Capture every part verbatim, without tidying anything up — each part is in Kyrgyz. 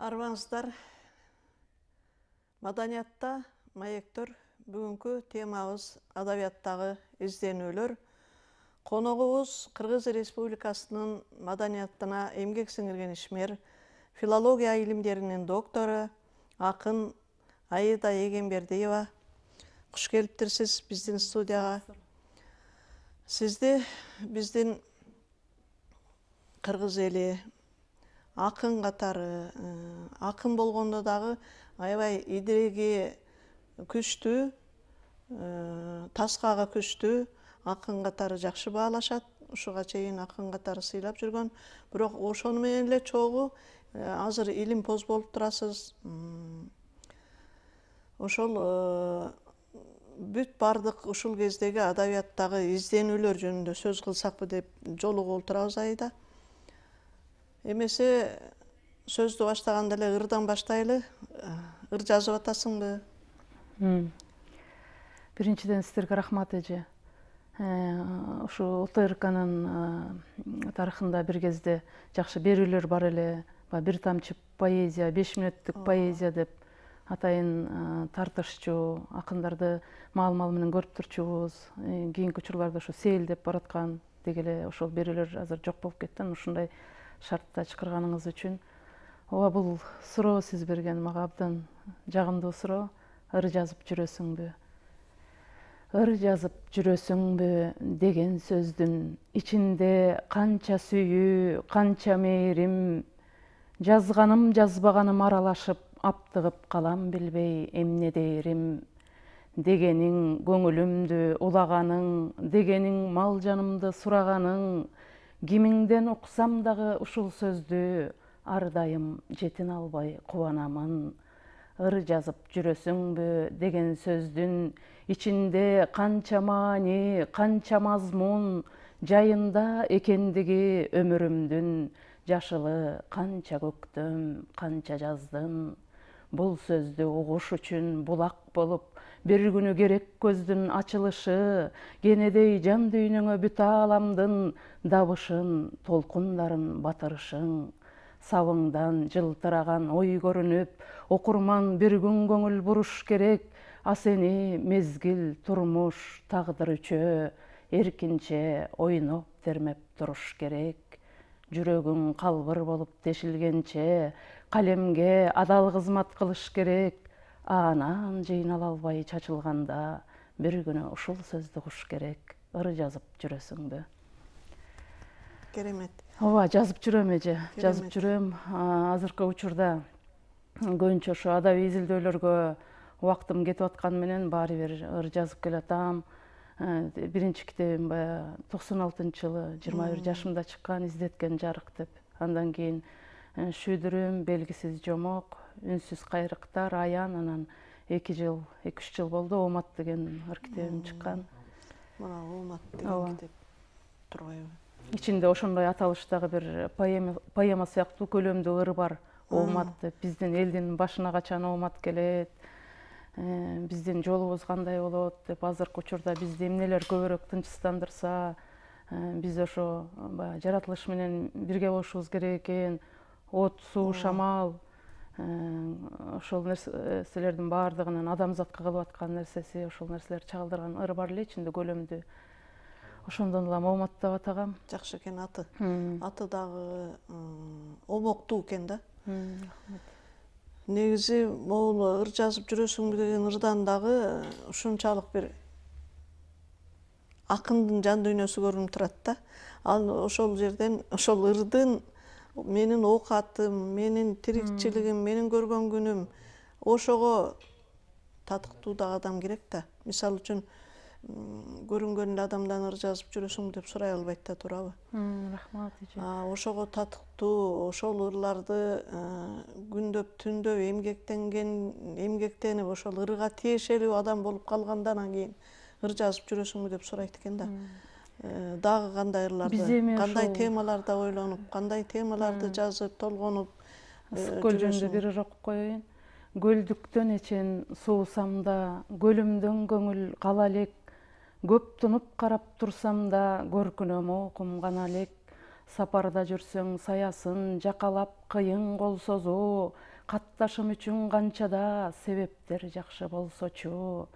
Арбаңыздар, маданиятта маектör. Бүгүнкү темабыз адабияттагы изденүүлөр. Коногубуз Кыргыз Республикасынын маданиятына эмгек сиңирген ишмер, филология илимдеринин доктору, акын Аида Эгембердиева. Куш келиптирсиз биздин студияга. Сизди биздин кыргыз эли акын катары, акын болгондо дагы аябай идереги күчтүү, таскагы күчтүү акын катары жакшы баалашат. Ушуга чейин акын катары сыйлап жүргөн. Бирок ошону менен эле чогуу азыр илимпоз болуп турасыз. Ошол бүт бардык ушул кездеги адабияттагы изденүүлөр жөнүндө сөз кылсакпы деп жолугуп отурабыз Аида. Эмесе сөздү баштаганда эле ырдан баштайлы. Ыр жазып атасыңбы? Биринчиден сиздерге рахмат эже. Ушу ОТРКнын тарыхында бир кезде жакшы берүүлөр бар эле. Бир тамчы поэзия, беш мүнөттүк поэзия деп атайын тартышчу, акындарды маал-маал менен көрүп турчубуз. Кийинки учурларда ушу сейилдеп бараткан деги эле ошол берүүлөр азыр жок болуп кетти. Ушундай шартта чакырганыңыз үчүн. Ооба, бул суроо сиз берген мага абдан жагымдуу суроо. Ыр жазып жүрөсүңбү? Ыр жазып жүрөсүңбү деген сөздүн ичинде канча сүйүү, канча мээрим, жазганым жазбаганым аралашып, аптыгып калам билбей эмне дээрим. Дегениң көңүлүмдү улаганың, дегениң мал жанымды сураганың, кимиңден уксам дагы ушул сөздү ар дайым жетин албай кубанамын. Ыр жазып жүрөсүңбү деген сөздүн ичинде канча маани, канча мазмун жайында экендиги өмүрүмдүн, жашылы канча көктөм, канча жаздын. Бул сөздү угуш үчүн булак болуп, бир күнү керек көздүн ачылышы, кенедей жан дүйнөңө бүт ааламдын дабышын, толкундарын батырышың. Сабыңдан жылтыраган ой көрүнүп, окурман бир күн көңүл буруш керек, а сени мезгил, турмуш, тагдыр үчөө эркинче ойноп термеп туруш керек. Жүрөгүң калбыр болуп тешилгенче, калемге адал кызмат кылыш керек. Анан жыйнала албай чачылганда, бир күнү ушул сөздү угуш керек. Ыр жазып жүрөсүңбү? Керемет. Ооба, жазып жүрөм эже, жазып жүрөм. Азыркы учурда көбүнчө ошо адабий изилдөөлөргө убактым кетип атканы менен баары бир ыр жазып келатам. Биринчи китебим баягы токсон алтынчы жылы жыйырма бир жашымда чыккан, издеткен жарык деп. Андан кийин Шүйдүрүм, белгисиз жомок, үнсүз кайрыктар, аян, анан эки жыл, эки үч жыл болду Оомат деген ыр китебим чыккан. Мына Оомат деген китеп турбайбы? Ичинде ошондой аталыштагы бир поэма сыяктуу көлөмдүү ыр бар. Оомат деп, биздин элдин башына качан Оомат келет, биздин жолубуз кандай болот деп, азыркы учурда бизди эмнелер көбүрөөк тынчсыздандырса, биз ошо баягы жаратылыш менен бирге болушубуз керек экен. От, суу, шамал, ошол нерселердин баардыгынын адамзатка кылып аткан нерсеси, ошол нерселерди чагылдырган ыр бар эле ичинде көлөмдүү. Ошондон улам Оомат деп атагам. Жакшы экен аты. Аты дагы омоктуу экен да. Негизи могул ыр жазып жүрөсүңбү деген ырдан дагы ушунчалык бир акындын жан дүйнөсү көрүнүп турат да. Ал ошол жерден, ошол ырдын менин оокатым, менин тирикчилигим, менин көргөн күнүм, ошого татыктуу дагы адам керек да. Мисалы үчүн көрүнгөн эле адамдан ыр жазып жүрөсүңбү деп сурай албайт да, туурабы? Рахмат эже. Ошого татыктуу, ошол ырларды күндөп, түндөп эмгектенген, эмгектенип, ошол ырга тиешелүү адам болуп калганда анан кийин ыр жазып жүрөсүңбү деп сурайт экен да. Дагы кандай ырларды, кандай темаларда ойлонуп, кандай темаларды жазып, толгонуп Ысык көл жөнүндө бир ыр окуп коеюн. Көлдүктөн эчен суусам да, көлүмдөн көңүл кала элек. Көп тунуп карап турсам да, көркүнөм окум гана элек. Сапарда жүрсөң саясын жакалап кыйын кол созуу, катташым үчүн канчада себептер жакшы болсочу,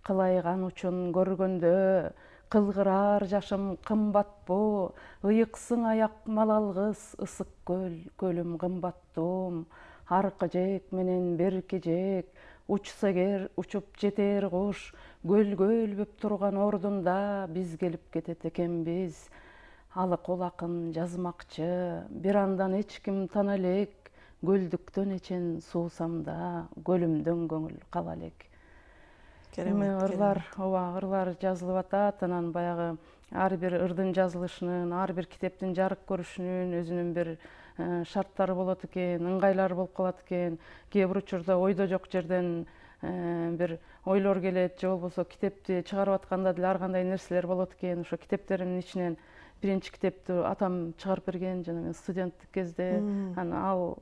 кылайган учун көргөндө кылгырар жашым кымбатпы, ыйыксың аяк малалгыс ысык көл, көлүм кымбаттуум, аркы жээк менен берки жээк, учса эгер учуп жетер куш, көлгө өлбөп турган ордунда биз келип кетет экенбиз. Алыкол акын жазмакчы, бир андан эч ким тана элек, көлдүктөн эчен суусамда, көлүмдөн көңүл кала элек. Эми ырлар, ооба, ырлар жазылып атат, анан баягы ар бир ырдын жазылышынын, ар бир китептин жарык көрүшүнүн өзүнүн бир шарттары болот экен, ыңгайлары болуп калат экен. Кээ бир учурда ойдо жок жерден бир ойлор келет, же болбосо китепти чыгарып атканда деле ар кандай нерселер болот экен. Ошо китептеримдин ичинен биринчи китепти атам чыгарып берген, жана мен студенттик кезде, анан ал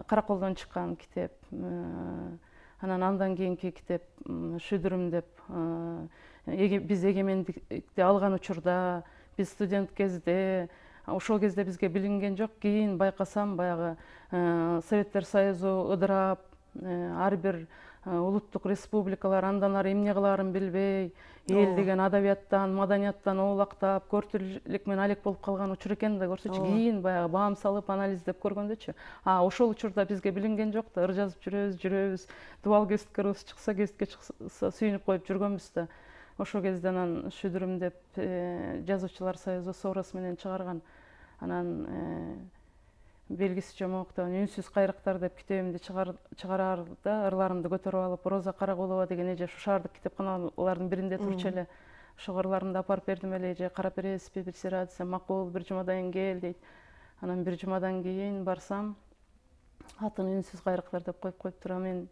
Караколдон чыккан китеп. Анан андан кийинки китеп Шүдүрүм деп, биз эгемендикти алган учурда, биз студент кезде, ошол кезде бизге билинген жок. Кийин байкасам, баягы Советтер Союзу ыдырап, ар бир улуттук республикалар андан ары эмне кылаарын билбей, эл деген адабияттан, маданияттан оолактап, көртүрлүк менен алек болуп калган учур экен да, көрсөчү. Кийин баягы баам салып анализдеп көргөндөчү, а ошол учурда бизге билинген жок да, ыр жазып жүрөбүз, жүрөбүз, дубал кеситкерибиз чыкса, кеситке чыкса сүйүнүп коюп жүргөнбүз да. Ошол кезде анан Шүдүрүм деп жазуучулар союзу сороос менен чыгарган. Анан белгисиз жомоктон Үнсүз кайрыктар деп китебимди чыгараарда, ырларымды көтөрүп алып, Роза Каракулова деген эже ушу шаардык китепканалардын биринде турчу эле. Ошол ырларымды апарып бердим эле, эже карап бересизби, бир сыйра десем, макул, бир жумадан кийин кел дейт. Анан бир жумадан кийин барсам, атын Үнсүз кайрыктар деп коюп коюптур. Мен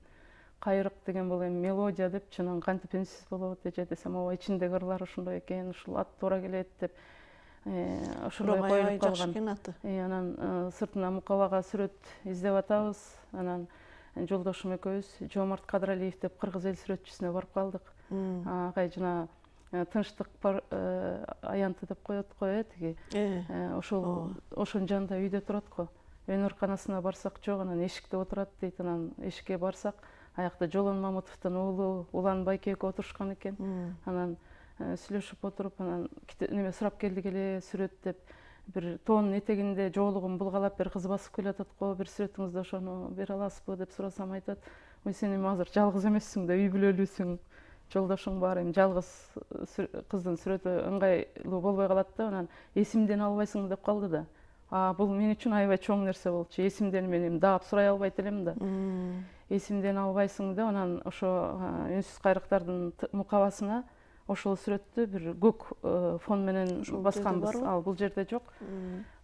кайрык деген бул эми мелодия депчи, анан кантип үнсүз болот эже десем, ооба, ичиндеги ырлар ошондой экен, ушул ат туура келет деп ошондой коюлуп калган. Анан сыртына мукабага сүрөт издеп атабыз. Анан жолдошум экөөбүз Жоомарт Кадралиев деп кыргыз эл сүрөтчүсүнө барып калдык. Агай жана тынчтык аянты деп коет го, э, тиги. Ошол ошонун жанында үйдө турат го. Өн ооруканасына барсак жок, анан эшикте отурат дейт. Анан эшикке барсак, аякта Жолон Мамутовдун уулу Улан байке экөө отурушкан экен. Анан сүйлөшүп отуруп, анан неме сурап келдик эле, сүрөт деп. Бир тоонун этегинде жоолугун булгалап бир кыз басып келатат го, бир сүрөтүңүздү ошону бере аласызбы деп сурасам, айтат, ой, сен эми азыр жалгыз эмессиң да, үй бүлөлүүсүң, жолдошуң бар, эми жалгыз кыздын сүрөтү ыңгайлуу болбой калат да. Анан эсимден албайсыңбы деп калды да. А бул мен үчүн аябай чоң нерсе болчу. Эсимден мен эми даап сурай албайт элем да. Эсимден албайсың деп, анан ошо Үнсүз кайрыктардын мукабасына ошол сүрөттү бир көк фон менен басканбыз. Ал бул жерде жок.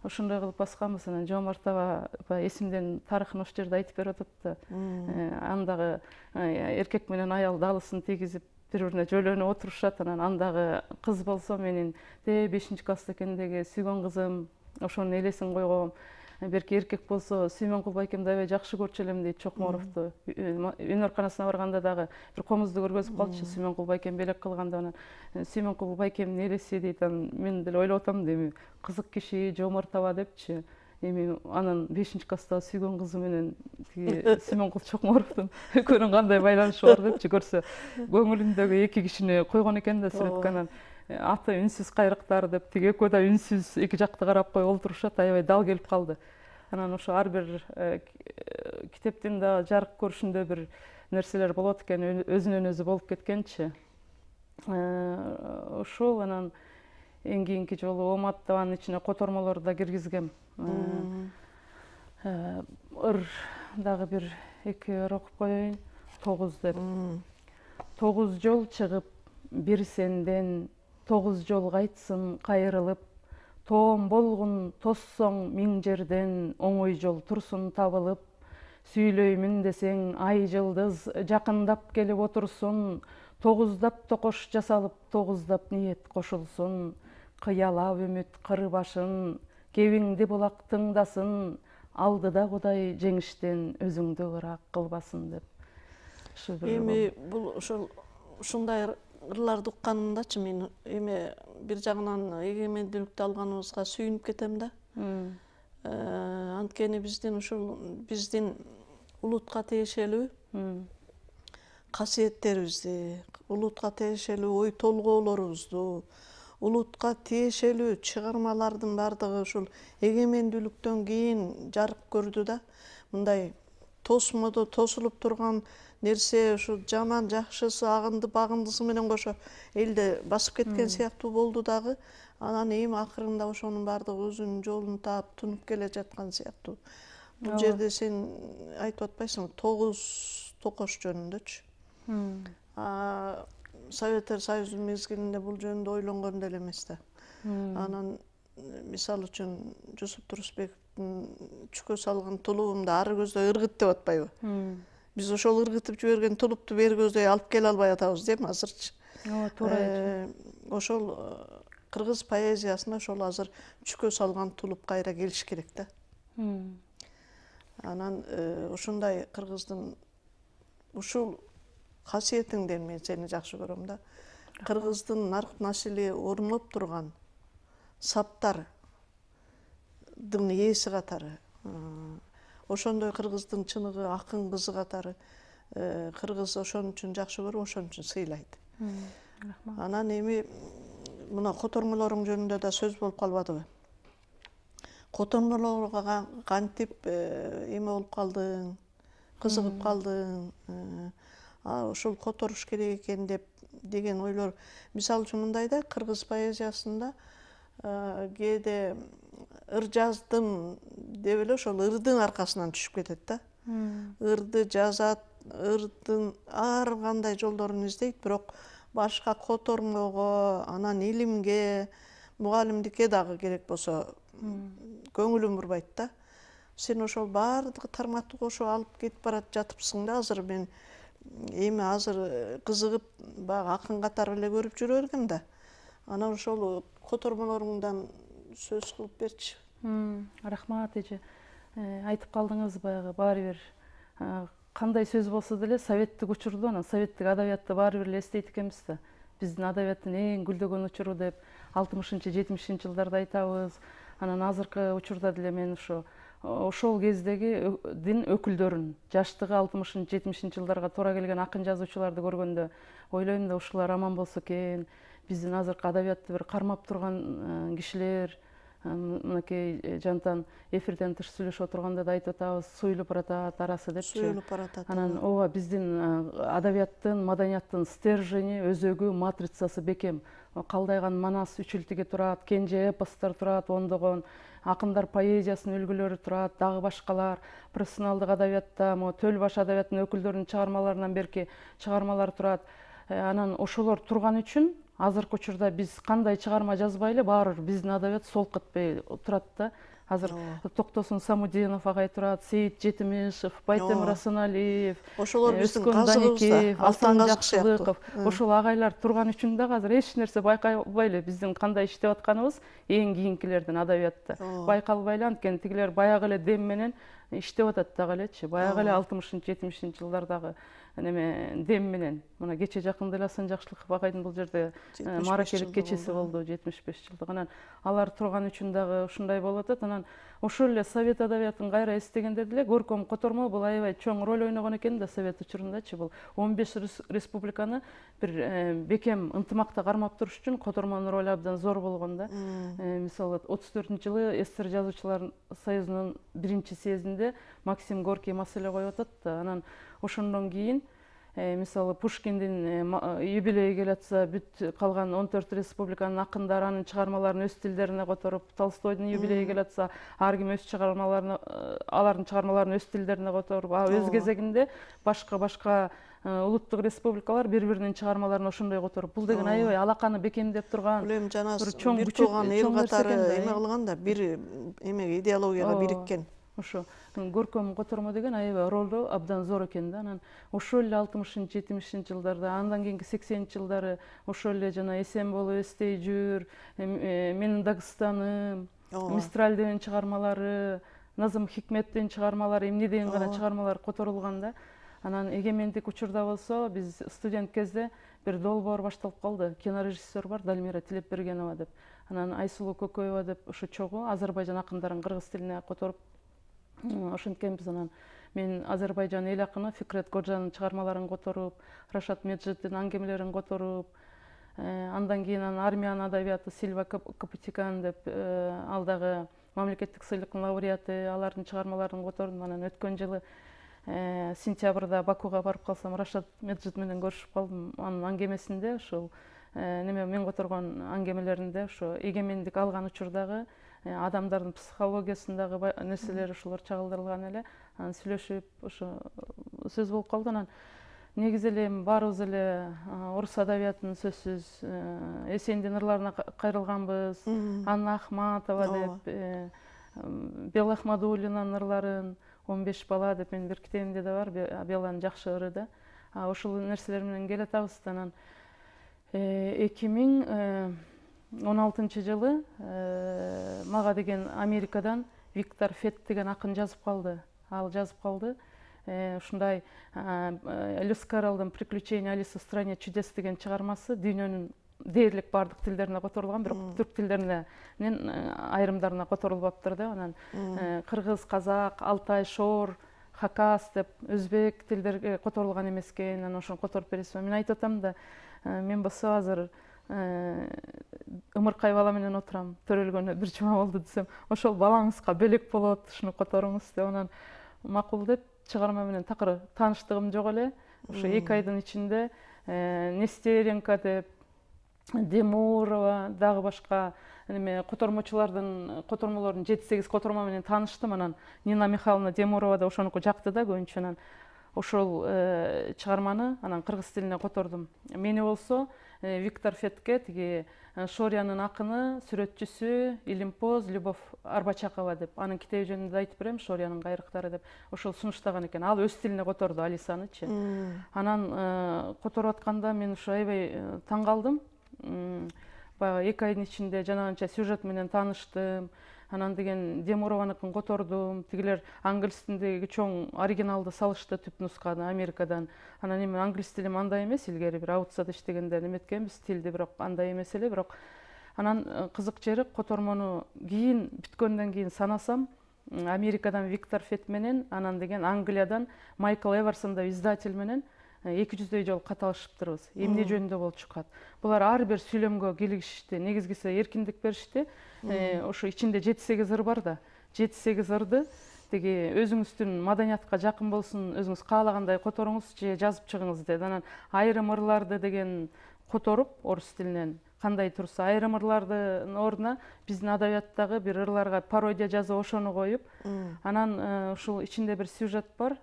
Ошондой кылып басканбыз. Анан Жоомарт аба эсимден тарыхын ошол жерде айтып берип атат да. Андагы эркек менен аял далысын тийгизип бири бирине жөлөнүп отурушат. Анан андагы кыз болсо менин бешинчи класста экендеги сүйгөн кызым, ошонун элесин койгом. Берки эркек болсо Сүймөнкул байкемди аябай жакшы көрчү элем дейт Чокморовду. Өн ооруканасына барганда дагы бир комузду көргөзүп калчу, Сүймөнкул байкем белек кылганда. Анан Сүймөнкул байкемдин элеси дейт. Анан мен деле ойлоп атам да, эми кызык киши Жоомарт аба депчи. Эми анын бешинчи класстагы сүйгөн кызы менен тиги Сүймөнкул Чокморовдун экөөнүн кандай байланышы бар депчи көрсө, көңүлүндөгү эки кишини койгон экен да сүрөткө. Анан аты Үнсүз кайрыктар деп, тиги экөө да үнсүз эки жакты карап коюп олтурушат, аябай дал келип калды. Анан ошо ар бир китептин да жарык көрүшүндө бир нерселер болот экен, өзүнөн өзү болуп кеткенчи. Ошол анан эң кийинки жолу Омат табанын ичине котормолорду да киргизгем. Ыр дагы бир эки ыр окуп коеюн. Тогуз деп. Тогуз жол чыгып бир сенден, тогуз жол кайтсын кайрылып, тоом болгун тоссоң миң жерден, оңой жол турсун табылып, сүйлөймүн десең ай жылдыз жакындап келип отурсун, тогуздап токош жасалып, тогуздап ниет кошулсун, кыялап үмүт кыр башын, кебиңди булак тыңдасын, алдыда Кудай жеңиштен өзүңдү ырак кылбасын деп. Эми бул ошол ушундай ырларды укканымдачы мен эми бир жагынан эгемендүүлүктү алганыбызга сүйүнүп кетем да. Анткени биздин ушул биздин улутка тиешелүү касиеттерибизди, улутка тиешелүү ой толгоолорубузду, улутка тиешелүү чыгармалардын баардыгы ушул эгемендүүлүктөн кийин жарык көрдү да. Мындай тосмодо тосулуп турган нерсе ушу жаман жакшысы, агынды багындысы менен кошо элди басып кеткен сыяктуу болду дагы. Анан эми акырында ошонун баардыгы өзүнүн жолун таап тунуп келе жаткан сыяктуу. Бул жерде сен айтып атпайсыңбы, тогуз токош жөнүндөчү. Советтер Союзунун мезгилинде бул жөнүндө ойлонгон деле эмес да. Анан мисалы үчүн Жусуп Турусбековдун чүкө салган тулуумду ары көздөй ыргыт деп атпайбы? Биз ошол ыргытып жиберген тулупту бери көздөй алып келе албай атабыз дейм азырчы. Ооба, туура. Ошол кыргыз поэзиясына ошол азыр чүкө салган тулуп кайра келиш керек да. Анан ушундай кыргыздын ушул касиетиңден мен сени жакшы көрөм да. Кыргыздын нарк насили орноп турган саптардын ээси катары, ошондой кыргыздын чыныгы акын кызы катары кыргыз ошон үчүн жакшы көрүп, ошон үчүн сыйлайт. Анан эми мына котормолоруң жөнүндө да сөз болуп калбадыбы? Котормолорго кантип эме болуп калдың, кызыгып калдың, ушул которуш керек экен деп деген ойлор. Мисалы үчүн мындай да, кыргыз поэзиясында кээде ыр жаздым деп эле ошол ырдын аркасынан түшүп кетет да. Ырды жазат, ырдын ар кандай жолдорун издейт, бирок башка котормого, анан илимге, мугалимдикке дагы керек болсо көңүлүн бурбайт да. Сен ошол баардык тармакты кошо алып кетип барат жатыпсың да. Азыр мен эми азыр кызыгып баягы акын катары эле көрүп жүрө бергем да. Анан ошол котормолоруңдан сөз кылып берчи. Рахмат эже. Айтып калдыңыз, баягы баары бир кандай сөз болсо деле советтик учурду, анан советтик адабиятты баары бир эле эстейт экенбиз да. Биздин адабияттын эң гүлдөгөн учуру деп алтымышынчы жетимишинчи жылдарда айтабыз. Анан азыркы учурда деле мен ушу ошол кездеги дин өкүлдөрүн, жаштыгы алтымышынчы жетимишинчи жылдарга туура келген акын жазуучуларды көргөндө ойлойм да, ушулар аман болсо экен. Биздин азыркы адабиятты бир кармап турган кишилер, мынакей жантан эфирден тыш сүйлөшүп отурганда да айтып атабыз, суюлуп баратат арасы депчи. Суюлуп баратат. Анан ооба, биздин адабияттын, маданияттын стержени, өзөгү, матрицасы бекем. Калдайган манас үчүлтүгү турат, кенже эпостор турат, ондогон акындар поэзиясынын үлгүлөрү турат, дагы башкалар. Профессионалдык адабиятта могу төл баш адабияттын өкүлдөрүнүн чыгармаларынан берки чыгармалар турат. Анан ошолор турган үчүн азыркы учурда биз кандай чыгарма жазбай эле баары бир биздин адабият солуп кетпей турат да. Азыр Токтосун Самудинов агай турат, Сейит Жетимишев, Байтем Расаналиев, ошолор биздин казыгыбызда, Асан Жакшылыков, ошол агайлар турган үчүн дагы азыр эч нерсе байкалбай эле биздин кандай иштеп атканыбыз эң кийинкилердин адабиятта байкалбай эле. Анткени тигилер баягы эле дем менен иштеп атат дагы элечи, баягы эле алтымышынчы жетимишинчи жылдардагы неме дем менен. Мына кече жакында эле Асан Жакшылыков агайдын бул жерде мааракелик кечеси болду, жетимиш беш жылдык. Анан алар турган үчүн дагы ушундай болуп атат. Анан ошол эле совет адабиятын кайра эстегенде деле Горком Котормо бул аябай чоң роль ойногон экен да совет учурундачы. Бул он беш республиканы бир бекем ынтымакта кармап туруш үчүн Котормонун ролу абдан зор болгон да. Мисалы отуз төртүнчү жылы СССР жазуучулар союзунун биринчи съездинде Максим Горький маселе коюп атат да. Анан ошондон кийин мисалы Пушкиндин юбилейи келе атса, бүт калган он төрт республиканын акындары анын чыгармаларын өз тилдерине которуп, Толстойдун юбилейи келе атса, ар ким өз чыгармаларын, алардын чыгармаларын өз тилдерине которуп, а өз кезегинде башка башка улуттук республикалар бири-биринин чыгармаларын ошондой которуп, бул деген аябай алаканы бекемдеп турган, бир жана бир тууган эл катары эме кылган да, бир эмеге идеологияга бириккен. Ошо Горком Котормо деген аябай ролу абдан зор экен да. Анан ошол эле алтымышынчы жетимишинчи жылдарда, андан кийинки сексенинчи жылдары ошол эле жана Эсен болуп эстей жүр, Менин Дагыстаным, Мистраль деген чыгармалары, Назым Хикметтин чыгармалары, эмне деген гана чыгармалар которулган да. Анан эгемендик учурда болсо, биз студент кезде бир долбоор башталып калды. Кинорежиссер бар, Дальмира Тилепбергенова деп. Анан Айсулуу Көкөева деп ушу чогуу Азербайжан акындарын кыргыз тилине которуп ошенткен биз. Анан мен Азербайжан эл акыны Фикрет Годжанын чыгармаларын которуп, Рашат Меджиддин аңгемелерин которуп, андан кийин анан армиянын адабияты Сильва Капутикан деп ал дагы мамлекеттик сыйлыктын лауреаты, алардын чыгармаларын котордум. Анан өткөн жылы сентябрда Бакуга барып калсам, Рашат Меджид менен көрүшүп калдым. Анын аңгемесинде ушул неме мен которгон аңгемелеринде ошо эгемендик алган учурдагы адамдардын психологиясындагы нерселер ошолор чагылдырылган эле. Анан сүйлөшүп ошо сөз болуп калды. Анан негизи эле эми баарыбыз эле орус адабиятынын сөзсүз Эсендин ырларына кайрылганбыз. Анна Ахматова деп, Бела Ахмадуллинанын ырларын, он беш бала деп менин бир китебимде да бар, Беланын жакшы ыры да. Ошол нерселер менен келатабыз. Анан эки миң он алтынчы жылы мага деген Америкадан Виктор Фетт деген акын жазып калды. Ал жазып калды. Ушундай Льюис Карролдун «Приключения Алисы в стране чудес» деген чыгармасы дүйнөнүн дээрлик баардык тилдерине которулган, бирок түрк тилдеринен айрымдарына которулбаптыр да. Анан кыргыз, казак, алтай, шор, хакас деп өзбек тилдерге которулган эмес экен. Анан ошону которуп бересизби? Мен айтып атам да, мен болсо азыр ымыркай бала менен отурам, төрөлгөнүнө бир жума болду десем, ошол балаңызга бөлөк болот, ушуну которуңуз деп. Анан макул деп чыгарма менен такыр тааныштыгым жок эле. Ошо эки айдын ичинде Нестеренко деп, Демурова, дагы башка неме котормочулардын котормолордун жети сегиз которма менен тааныштым. Анан Нина Михайловна Демурова да ошонуку жакты да көбүнчө. Анан ошол чыгарманы анан кыргыз тилине котордум. Мени болсо Виктор Феттке тиги Шориянын акыны, сүрөтчүсү Илимпоз Любовь Арбачакова деп, анын китеби жөнүндө айтып берем, Шориянын кайрыктары деп, ошол сунуштаган экен. Ал өз тилине которду Алисанычы. Анан которуп атканда мен ушу аябай таң калдым. Баягы эки айдын ичинде жанагынча сюжет менен тааныштым. Анан деген Демурованыкын котордум. Тигилер англис тилиндеги чоң оригиналды салышты түп нусканы Америкадан. Анан эми англис тилим андай эмес, илгери бир аутсада иштегенде неметкенбиз тилди, бирок андай эмес эле. Бирок анан кызык жери котормону кийин бүткөндөн кийин санасам, Америкадан Виктор Фетт менен, анан деген Англиядан Майкл Эверсон деп издатель менен эки жүздөй жолу кат алышыптырбыз. Эмне жөнүндө болуп чыкат? Булар ар бир сүйлөмгө кийлигишти. Негизгиси эркиндик беришти. Ошо ичинде жети сегиз ыр бар да. жети сегиз ырды тиги өзүңүздүн маданиятка жакын болсун, өзүңүз каалагандай которуңуз же жазып чыгыңыз деди. Анан айрым ырларды деген которуп орус тилинен кандай турса, айрым ырлардын ордуна биздин адабияттагы бир ырларга пародия жазып ошону коюп, анан ушул ичинде бир сюжет бар.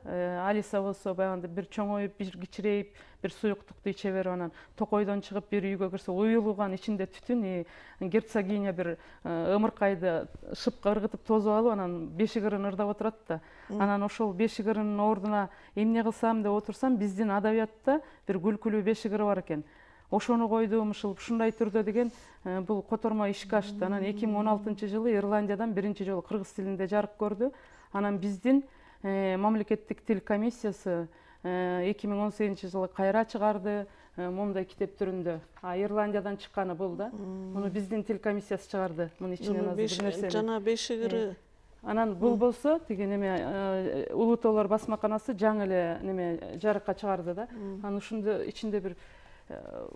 Алиса болсо баягындай бир чоңоюп, бир кичирейип, бир суюктукту иче берип, анан токойдон чыгып бир үйгө кирсе, уюлган ичинде түтүн, герцогиня бир ымыркайды шыпка ыргытып тосуп алып, анан бешик ырын ырдап отурат да. Анан ошол бешик ырынын ордуна эмне кылсам деп отурсам, биздин адабиятта бир күлкүлүү бешик ыры бар экен. Ошону койдум, ушул ушундай түрдө деген бул которма ишке ашты. Анан эки миң он алтынчы жылы Ирландиядан биринчи жолу кыргыз тилинде жарык көрдү. Анан биздин мамлекеттик тил комиссиясы эки миң он сегизинчи жылы кайра чыгарды момундай китеп түрүндө. А Ирландиядан чыкканы бул да. Муну биздин тил комиссиясы чыгарды. Мунун ичинен азыр бир нерсе. Жана бешик ыры. Анан бул болсо тиги неме Улуу Тоолор басмаканасы жаңы эле неме жарыкка чыгарды да. Анан ушунда ичинде бир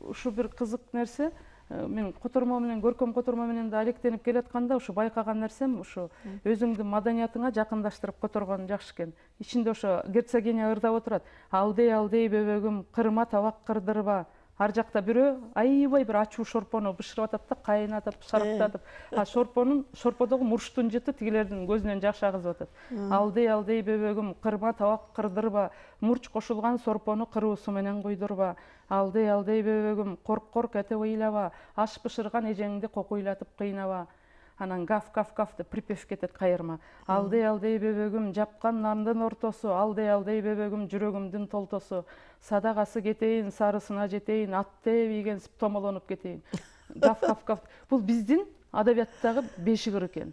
ушу бир кызык нерсе. Мен котормо менен, көркөм котормо менен да алектенип келатканда ушу байкаган нерсем, ушу өзүңдүн маданиятыңа жакындаштырып которгон жакшы экен. Ичинде ошо герцогиня ырдап отурат. Алдей алдей бөбөгүм, кырма табак кырдырба. Ар жакта бирөө аябай бир ачуу шорпону бышырып атат да, кайнатып, шарыктатып. А шорпонун шорподогу мурчтун жыты тигилердин көзүнөн жаш агызып атат. Алдей алдей бөбөгүм, кырма табак кырдырба. Мурч кошулган сорпону кыруусу менен куйдурба. Алдей алдей бөбөгүм, корк корк этип ыйлаба. Аш бышырган эжеңди кокуйлатып кыйнаба. Анан гав гав гав деп припев кетет кайырма. Алдей алдей бөбөгүм, жапкан нандын ортосу, алдей алдей бөбөгүм, жүрөгүмдүн толтосу. Садагасы кетейин, сарысына жетейин, атты бийгенсип томолонуп кетейин. Гав гав гав. Бул биздин адабияттагы бешик ыр экен.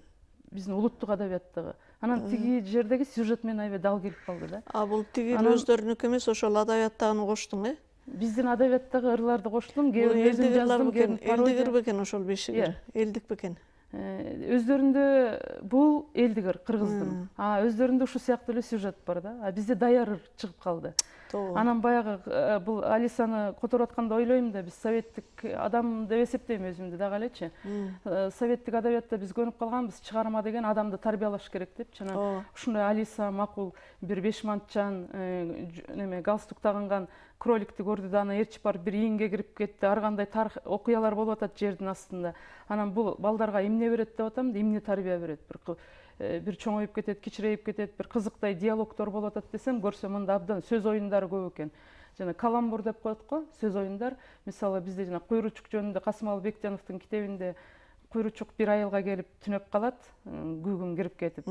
Биздин улуттук адабияттагы. Анан тиги жердеги сюжет менен аябай дал келип калды да. А бул тиги өздөрүнүкү эмес, ошол адабияттагыны коштуң, э? Биздин адабияттагы ырларды коштум, кээ өзүм жаздым, кээ элдик ыр бекен ошол бешик ыр. Элдик бекен. өздөрүндө бул элдигер кыргыздын, а өздөрүндө ушул сыяктуу эле сюжет бар да, а бизде даяр чыгып калды. Анан баягы бул Алисаны которуп атканда ойлойм да, биз советтик адам деп эсептейм өзүмдү дагы элечи. Советтик адабиятта биз көнүп калганбыз, чыгарма деген адамды тарбиялаш керек депчи. Анан ушундай Алиса макул бир бешмантчан неме галстук тагынган кроликти көрдү да, аны ээрчип барып бир ийинге кирип кетти. Ар кандай тарых окуялар болуп атат жердин астында. Анан бул балдарга эмне берет деп атам да, эмне тарбия берет? Бир бир чоңоюп кетет, кичирейип кетет, бир кызыктай диалогдор болуп атат десем, көрсөм мында абдан сөз оюндары көп экен. Жана каламбур деп коет го, сөз оюндар. Мисалы бизде жана Куйручук жөнүндө Касымалы Бекжановдун китебинде Куйручук бир айылга келип түнөп калат, күгүм кирип кетип,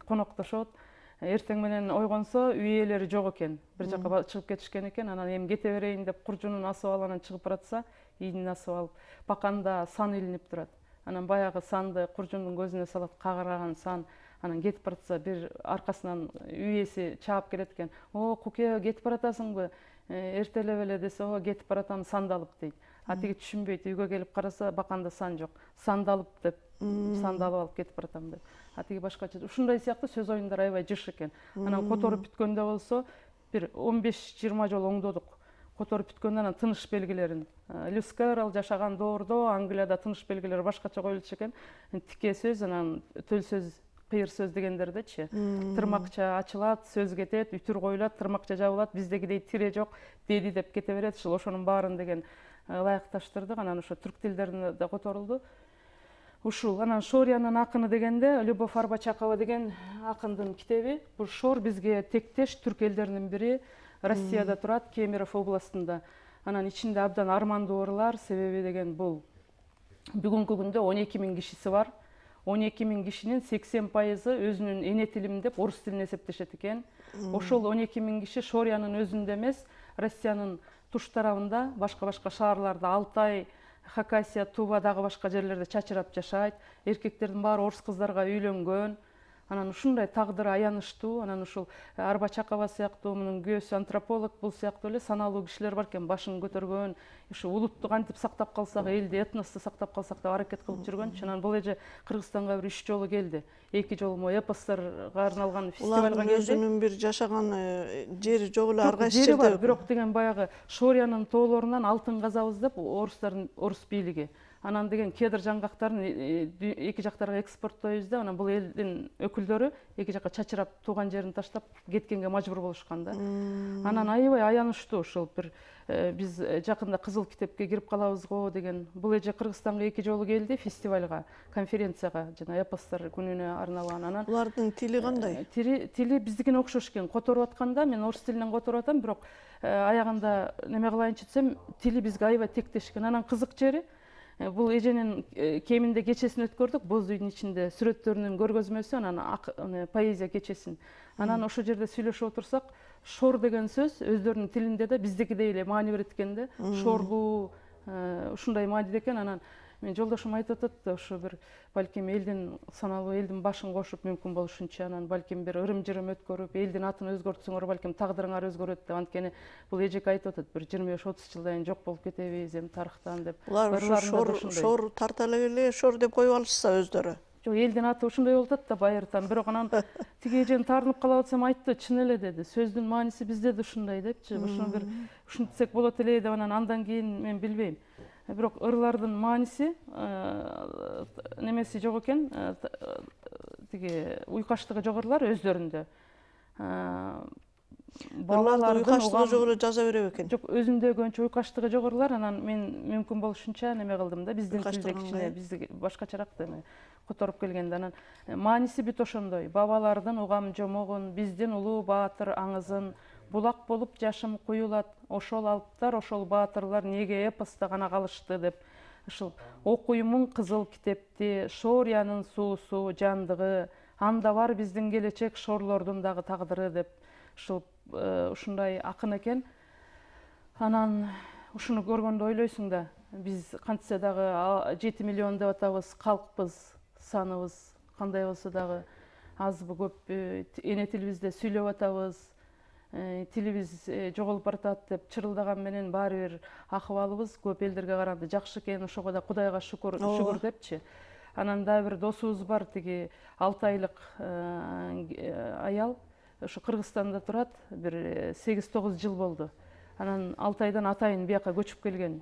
коноктошот. Эртең менен ойгонсо үй ээлери жок экен, бир жака чыгып кетишкен экен. Анан эми кете берейин деп куржунун асып алып, анан чыгып баратса, ийинин асып алып, баканда сан илинип турат. Анан баягы санды куржундун көзүнө салат, кагыраган сан. Анан кетип баратса, бир аркасынан үй ээси чаап келет экен. О, Куке, кетип баратасыңбы? Эртелеп эле десе, о, кетип баратам, санды алып дейт. А тиги түшүнбөйт, үйгө келип караса, баканда сан жок. Санды алып деп, санды алып алып кетип баратам деп. А тиги башкача. Ушундай сыяктуу сөз оюндар аябай жыш экен. Анан которуп бүткөндө болсо, бир он беш жыйырма жолу оңдодук. Которуп бүткөндө анан тыныш белгилерин. Льюис Кэрролл жашаган доордо Англияда тыныш белгилери башкача коюлчу экен. Тике сөз, анан төл сөз, кыйыр сөз дегендердечи. Тырмакча ачылат, сөз кетет, үтүр коюлат, тырмакча жабылат, биздегидей тире жок, деди деп кете берет. Ушул ошонун баарын деген ылайыкташтырдык. Анан ошо түрк тилдерине да которулду. Ушул анан Шорянын акыны дегенде Любовь Арбачакова деген акындын китеби. Бул Шор бизге тектеш түрк элдеринин бири. Россияда турат, Кемерово областында. Анан ичинде абдан армандуу ырлар, себеби деген бул бүгүнкү күндө он эки миң кишиси бар. он эки миң кишинин сексен пайызы өзүнүн эне тилим деп орус тилин эсептешет экен. Ошол он эки миң киши Шорянын өзүндө эмес, Россиянын туш тарабында, башка-башка шаарларда, Алтай, Хакасия, Тува дагы башка жерлерде чачырап жашайт. Эркектердин баары орус кыздарга үйлөнгөн. Анан ушундай тагдыры аянычтуу. Анан ушул Арбачакова сыяктуу, мунун күйөөсү антрополог, бул сыяктуу эле саналуу кишилер бар экен, башын көтөргөн, ушу улутту кантип сактап калсак, элди, этносту сактап калсак деп аракет кылып жүргөнчү. Анан бул эже Кыргызстанга бир үч жолу келди. Эки жолу мо эпостторго арналган фестивалга келди. Өзүнүн бир жашаган жери жок эле, ар кайсы жерде бар, бирок деген баягы Шорянын тоолорунан алтын казабыз деп орустардын, орус бийлиги. Анан деген кедр жаңгактарын эки жактарга экспорттойбуз деп, анан бул элдин өкүлдөрү эки жакка чачырап тууган жерин таштап кеткенге мажбур болушкан да. Анан аябай аянычтуу ушул бир биз жакында Кызыл китепке кирип калабыз го деген. Бул эже Кыргызстанга эки жолу келди фестивалга, конференцияга, жана эпостор күнүнө арналган. Анан булардын тили кандай? Тили биздикине окшош экен. Которуп атканда мен орус тилинен которуп атам, бирок аягында неме кылайынчы десем, тили бизге аябай тектеш экен. Анан кызык жери бул эженин кеминде кечесин өткөрдүк, боз үйдүн ичинде сүрөттөрүнүн көргөзмөсү, анан поэзия кечесин. Анан ошол жерде сүйлөшүп отурсак, шор деген сөз өздөрүнүн тилинде да биздикидей эле маани берет экен да. Шорлуу, ушундай мааниде экен. Анан мен жолдошум айтып атат, ошо бир балким элдин саналуу элдин башын кошуп мүмкүн болушунча, анан балким бир ырым-жырым өткөрүп, элдин атын өзгөртсөңөр, балким тагдырыңар өзгөрөт деп. Анткени бул эжеке айтып атат, бир жыйырма беш отуз жылдан кийин жок болуп кетебиз эми тарыхтан деп. Булар шор, шор тарта эле шор деп коюп алышса өздөрү. Жок, элдин аты ушундай болуп атат да байыртан. Бирок анан тиги эжени таарынып калып атсам, айтты, чын эле деди. Сөздүн мааниси бизде да ушундай депчи. Ошону бир ушинтсек болот эле деп, анан андан кийин мен билбейм. Бирок ырлардын мааниси немеси жок экен, тиги уйкаштыгы жок ырлар өздөрүндө. Балалардын уйкаштыгы жок эле жаза берет экен. Жок, өзүндө көбүнчө уйкаштыгы жок ырлар. Анан мен мүмкүн болушунча неме кылдым да, биздин тилде кичине, бизди башкачараак эме которуп келгенде. Анан мааниси бүт ошондой. Бабалардын угам жомогун, биздин улуу баатыр аңызын, булак болуп жашым куюлат, ошол алыптар, ошол баатырлар неге эпоста гана калышты деп. Ушул окуймун кызыл китепти, Шорянын суусу, жандыгы, анда бар биздин келечек, шорлордун дагы тагдыры деп. Ушул ушундай акын экен. Анан ушуну көргөндө ойлойсуң да, биз кантсе дагы жети миллион деп атабыз, калкпыз, саныбыз кандай болсо дагы азбы көппү, эне тилибизде сүйлөп атабыз. Тилибиз жоголуп баратат деп чырылдаган менен баары бир акыбалыбыз көп элдерге караганда жакшы экен, ошого да Кудайга шүгүр, шүгүр депчи. Анан дагы бир досубуз бар, тиги алты айлык аял ошо Кыргызстанда турат, бир сегиз тогуз жыл болду. Анан алты айдан атайын бияка көчүп келген,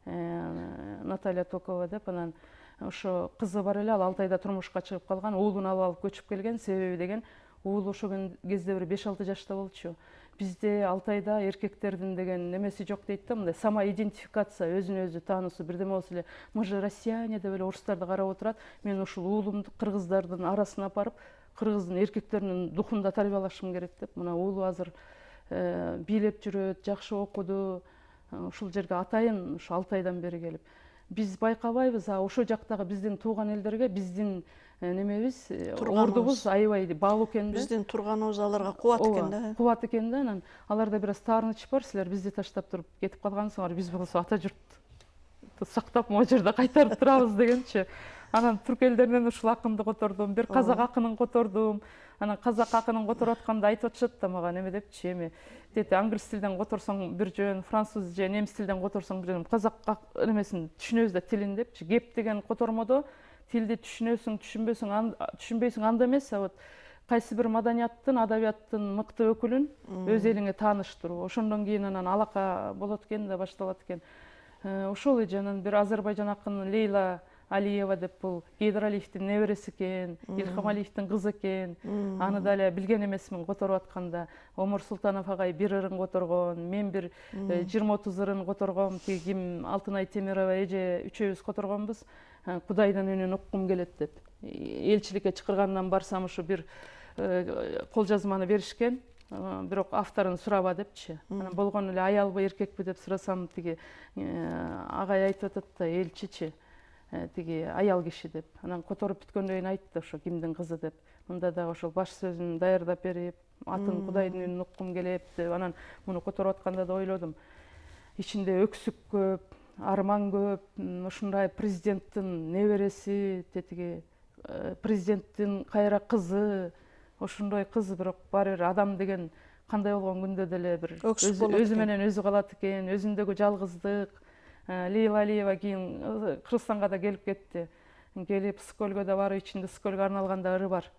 Наталья Токова деп. Анан ошо кызы бар эле, ал алты айда турмушка чыгып калган, уулун алып алып көчүп келген. Себеби деген уулу ошол кезде бир беш алты жашта болчу. Бизде алты айда эркектердин деген немеси жок дейт да, мындай самоидентификация, өзүн өзү таануусу бирдеме болсо эле, мы же россияне деп эле орустарды карап отурат. Мен ушул уулумду кыргыздардын арасына апарып, кыргыздын эркектеринин духунда тарбиялашым керек деп. Мына уулу азыр бийлеп жүрөт, жакшы окуду. Ушул жерге атайын ушу алты айдан бери келип. Биз байкабайбыз, а ошол жактагы биздин тууган элдерге биздин немебиз, ордубуз аябай баалуу экен да. Биздин турганыбыз аларга кубат экен да. Кубат экен да. Анан аларда бир аз таарыныч бар. Силер бизди таштап туруп кетип калгансыңар, биз болсо ата журтту сактап могу жерде кайтарып турабыз дегенчи. Анан түрк элдеринен ушул акынды котордум, бир казак акынын котордум. Анан казак акынын которуп атканда айтып атышат да мага, неме депчи, эми дети англис тилден которсоң бир жөн, француз же немис тилден которсоң бир жөн, казак немесин түшүнөбүз да тилин депчи. Кеп деген котормодо тилди түшүнөсүң, түшүнбөсүң, түшүнбөйсүң анда эмес, а вот кайсы бир маданияттын, адабияттын мыкты өкүлүн өз элиңе тааныштыруу. Ошондон кийин анан алака болот экен да, башталат экен. Ошол эже анан бир Азербайжан акыны Лейла Алиева деп, бул Гейдар Алиевдин небереси экен, Илхам Алиевдин кызы экен. Аны да эле билген эмесмин которуп атканда. Омур Султанов агай бир ырын которгон, мен бир жыйырма отуз ырын которгом, тиги ким Алтынай Темирова эже үчөөбүз которгонбуз. Кудайдын үнүн уккум келет деп. Элчиликке чакыргандан барсам ушу бир кол жазманы беришкен. Бирок авторун сураба депчи. Анан болгону эле аялбы, эркекпи деп сурасам, тиги агай айтып атат да, элчичи, тиги аял киши деп. Анан которуп бүткөндөн кийин айтты ошо кимдин кызы деп. Мында дагы ошол баш сөзүн даярдап берип, атын Кудайдын үнүн уккум келет деп. Анан муну которуп атканда да ойлодум. Ичинде өксүк көп, арман көп, ушундай президенттин небереси, тетиги президенттин кайра кызы, ошондой кыз, бирок баары бир адам деген кандай болгон күндө деле бир өзү менен өзү калат экен, өзүндөгү жалгыздык. Лейла Алиева кийин Кыргызстанга да келип кетти. Келип Скөлгө да барып, ичинде Скөлгө арналган да ыры бар.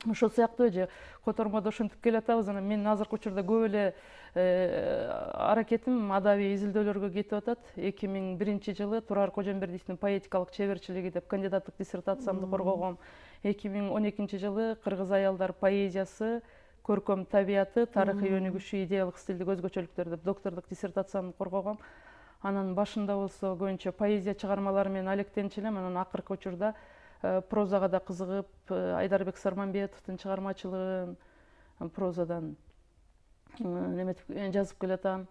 Ошол сыяктуу эже котормодо ошентип келатабыз. Анан мен азыркы учурда көп эле аракетим адабий изилдөөлөргө кетип атат. эки миң биринчи жылы Турар Кожомбердиевдин поэтикалык чеберчилиги деп кандидаттык диссертациямды коргогом. эки миң он экинчи жылы Кыргыз аялдар поэзиясы, көркөм табияты, тарыхый өнүгүшү, идеялык стилдик өзгөчөлүктөр деп доктордук диссертациямды коргогом. Анан башында болсо көбүнчө поэзия чыгармалары менен алектенчү элем. Анан акыркы учурда прозага да кызыгып, Айдарбек Сарманбетовдун чыгармачылыгын прозадан неметип жазып келатам.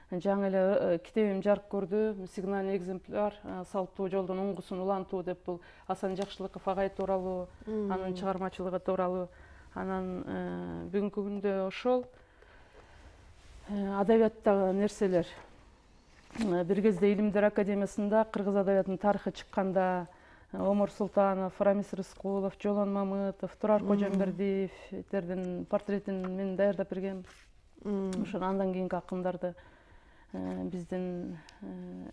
Жаңы эле китебим жарык көрдү, Сигнальный экземпляр, салттуу жолдун уңгусун улантуу деп, бул Асан Жакшылыков агай тууралуу, анын чыгармачылыгы тууралуу. Анан бүгүнкү күндө ошол адабияттагы нерселер. Бир кезде Илимдер академиясында кыргыз адабиятынын тарыхы чыкканда Омур Султанов, Рамис Рыскулов, Жолон Мамытов, Турар Кожомбердиевдердин портретин мен даярдап бергем. Ошон андан кийинки акындарды биздин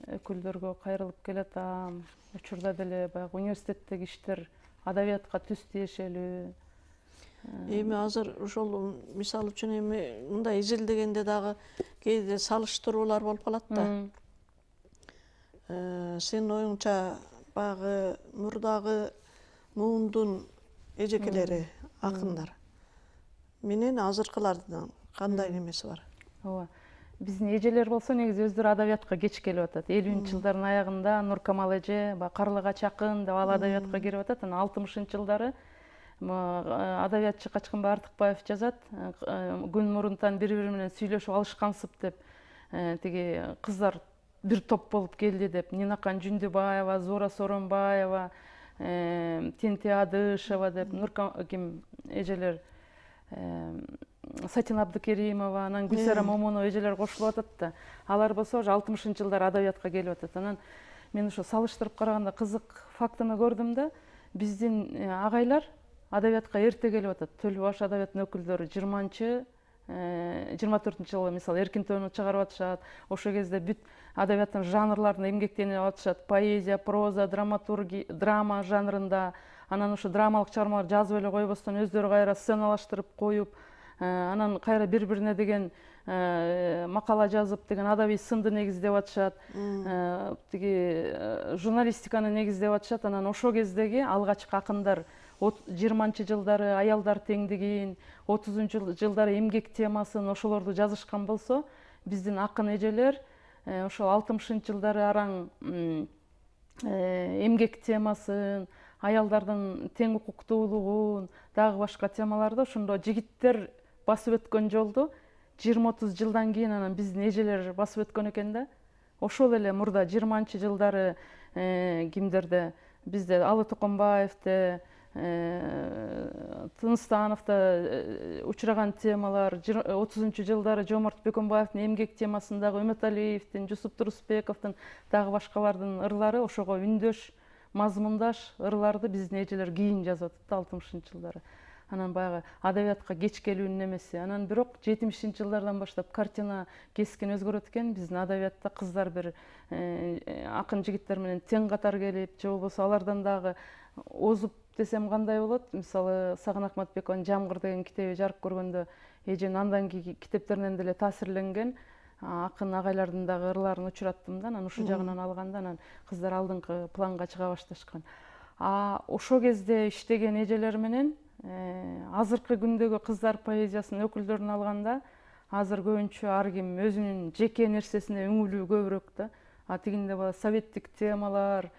өкүлдөргө кайрылып келатам. Учурда деле баягы университеттеги иштер адабиятка түз тиешелүү. Эми азыр ошол мисалы үчүн эми мындай изилдегенде дагы кээде салыштыруулар болуп калат да. Сенин оюңча баягы мурдагы муундун эжекелери, акындар менен азыркылардын кандай немеси бар? Ооба. Биздин эжелер болсо негизи өздөрү адабиятка кеч келип атат. элүүнчү жылдардын аягында Нуркамал эже баягы Карлыгач акын деп ал адабиятка кирип атат. Анан алтымышынчы жылдары адабиятчы Качкынбай Артыкбаев жазат, күн мурунтан бири-бири менен сүйлөшүп алышкансып деп, тиги кыздар бир топ болуп келди деп, Нинакан Жүндүбаева, Зора Соронбаева, Тенти Адышева деп, Нурким эжелер, Сатин Абдыкеримова, анан Гүлсара Момунова эжелер кошулуп атат да. Алар болсо ошо алтымышынчы жылдары адабиятка келип атат. Анан мен ошо салыштырып караганда кызык фактыны көрдүм да, биздин агайлар адабиятка эрте келип атат. Төлбаш адабияттын өкүлдөрү жыйырманчы жыйырма төртүнчү жылы мисалы эркин тоону чыгарып атышат. Ошол кезде бүт адабияттын жанрларында эмгектенип атышат. Поэзия, проза, драматургия, драма жанрында. Анан ошо драмалык чыгармалар жазып эле койбостон өздөрү кайра сценалаштырып коюп, анан кайра бири-бирине деген макала жазып деген адабий сынды негиздеп атышат. Тиги журналистиканы негиздеп атышат. Анан ошол кездеги алгачкы акындар жыйырманчы жылдары аялдар теңдигин, отузунчу жылдары эмгек темасын ошолорду жазышкан болсо, биздин акын эжелер ошол алтымышынчы жылдары араң эмгек темасын, аялдардын тең укуктуулугун, дагы башка темаларды ошондо жигиттер басып өткөн жолду жыйырма отуз жылдан кийин анан биздин эжелер басып өткөн экен да. Ошол эле мурда жыйырманчы жылдары кимдерде бизде Алы Токомбаевде, Тыныстановдо учураган темалар, отузунчу жылдары Жоморт Бөкөнбаевдин эмгек темасындагы Үмөталиевдин, Жусуп Турусбековдун, дагы башкалардын ырлары ошого үндөш, мазмундаш ырларды биздин эжелер кийин жазып атат алтымышынчы жылдары. Анан баягы адабиятка кеч келүүнүн эмеси. Анан бирок жетимишинчи жылдардан баштап картина кескин өзгөрөт экен. Биздин адабиятта кыздар бир акын жигиттер менен тең катар келип, же болбосо алардан дагы озуп десем кандай болот? Мисалы Сагын Акматбекованын Жамгыр деген китеби жарык көргөндө эжем андан кийинки китептеринен деле таасирленген. Акын агайлардын дагы ырларын учураттым да, анан ушул жагынан алганда анан кыздар алдыңкы планга чыга башташкан. А ошол кезде иштеген эжелер менен азыркы күндөгү кыздар поэзиясынын өкүлдөрүн алганда, азыр көбүнчө ар ким өзүнүн жеке нерсесине үңүлүү көбүрөөк да. А тигинде баягы советтик темалар,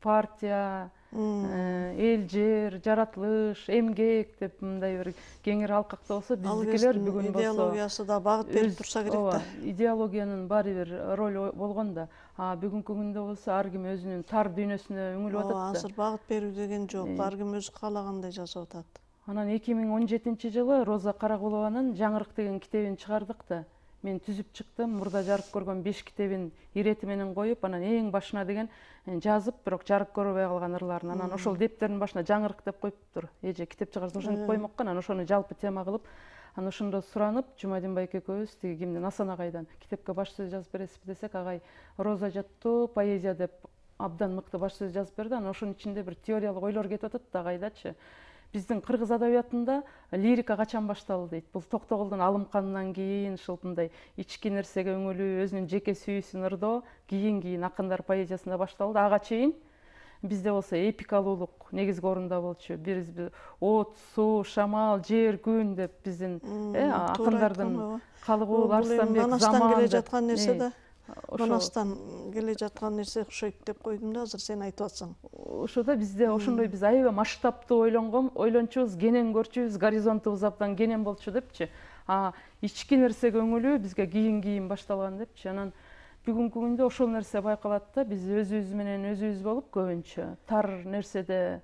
партия, эл жер, жаратылыш, эмгек деп мындай бир кеңири алкакта болсо, биздикилер бүгүн болсо идеологиясы да багыт берип турса керек да. Идеологиянын баары бир ролу болгон да. А бүгүнкү күндө болсо ар ким өзүнүн тар дүйнөсүнө үңүлүп атат да. Азыр багыт берүү деген жок, ар ким өзү каалагандай жазып атат. Анан эки миң он жетинчи жылы Роза Каракулованын Жаңырык деген китебин чыгардык да. Мен түзүп чыктым, мурда жарык көргөн беш китебин ирети менен коюп, анан эң башына деген жазып, бирок жарык көрбөй калган ырларын. Анан ошол дептердин башына Жаңырык деп коюптур. Эже китеп чыгарса ошентип коймокко, анан ошону жалпы тема кылып, анан ошондо суранып, Жумадин байке экөөбүз тиги кимден Асан агайдан китепке баш сөз жазып бересизби десек, агай роза жаттоо, поэзия деп абдан мыкты баш сөз жазып берди. Анан ошонун ичинде бир теориялык ойлор кетип атат да агайдачы. Биздин кыргыз адабиятында лирика качан башталды дейт. Бул Токтогулдун Алымканынан кийин ушул мындай ички нерсеге үңүлүү, өзүнүн жеке сүйүүсүн ырдоо кийин-кийин акындар поэзиясында башталды. Ага чейин бизде болсо эпикалуулук негизги орунда болчу. Биз от, суу, шамал, жер, күн деп биздин акындардын Калыгул, Арстанбек, Заман Манастан келе жаткан нерсе да. Манастан келе жаткан нерсе окшойт деп койдум да, азыр сен айтып атсаң. Ошода бизде ошондой биз аябай масштабтуу ойлонгон, ойлончубуз, кенен көрчүбүз, горизонтубуз абдан кенен болчу депчи. А ички нерсеге үңүлүү бизге кийин-кийин башталган депчи. Анан бүгүнкү күндө ошол нерсе байкалат да, биз өзүбүз менен өзүбүз болуп көбүнчө тар нерседе